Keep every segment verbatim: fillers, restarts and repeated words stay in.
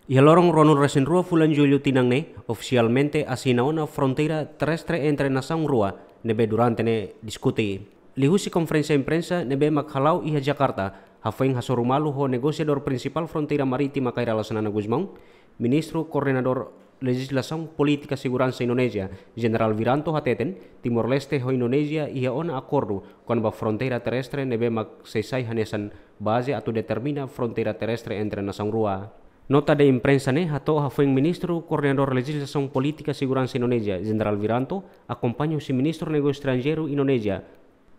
Iha loron ruanulu resin rua fulan Jullu tinan ne'e, ofisialmente asina ona fronteira terrestre entre nasaun rua ne'ebé durante ne'e diskute. Liuhusi konferénsia imprensa ne'ebé mak hala'o iha Jakarta, hafoin hasoru malu ho negosiadór prinsipál fronteira marítima Kay Rala Xanana Gusmão, Ministru Koordenadór Lejizlasaun Polítika Seguransa Indonézia, Jenerál Wiranto hateten, Timor-Leste ho Indonézia iha ona akordu kona-ba fronteira terrestre ne'ebé mak sei sai hanesan baze atu determina fronteira terrestre entre nasaun rua. Nota de imprensa ne'e hato'o hafoin Ministru Koordenadór Lejizlasaun Polítika Seguransa Indonézia, Jenerál Wiranto, akompaña husi Ministru Negósiu Estranjeiru Indonézia,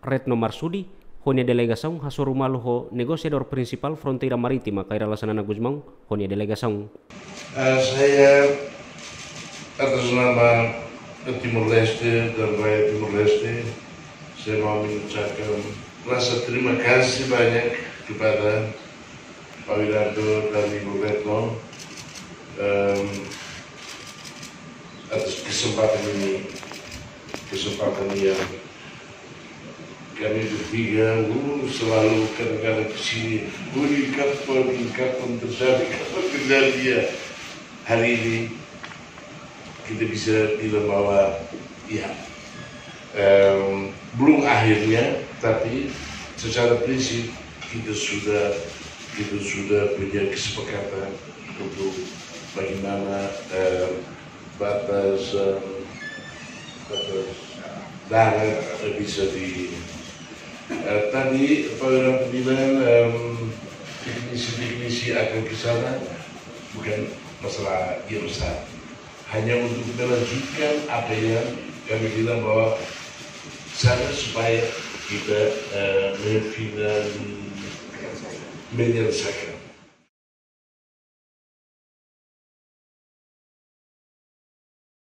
Retno Marsudi, ho nia delegasaun hasoru malu ho negosiadór prinsipál fronteira marítima Kay Rala Xanana Gusmão, ho nia delegasaun. Eh, saya atas nama Timor-Leste dan rakyat Timor-Leste, saya mau mengucapkan rasa terima kasih banyak kepada Pak Wiranto dan Ibu Retno, em, atas kesempatan ini, kesempatan yang kami bertiga, uh, selalu kadang-kadang ke sini, uh, ini kapan, ini kapan terjadi, kapan terjadi ya. Hari ini kita bisa bilang bahwa ya, em, belum akhirnya, tapi secara prinsip kita sudah, kita sudah punya kesepakatan untuk bagaimana, em, batas, em, batas darat, eh, bisa di, eh, tadi Pak Wiranto bilang, em, teknisi-teknisi akan ke sana, bukan masalah yang besar. Hanya untuk melanjutkan apa yang kami bilang bahwa sana supaya kita, eh, menyelesaikan.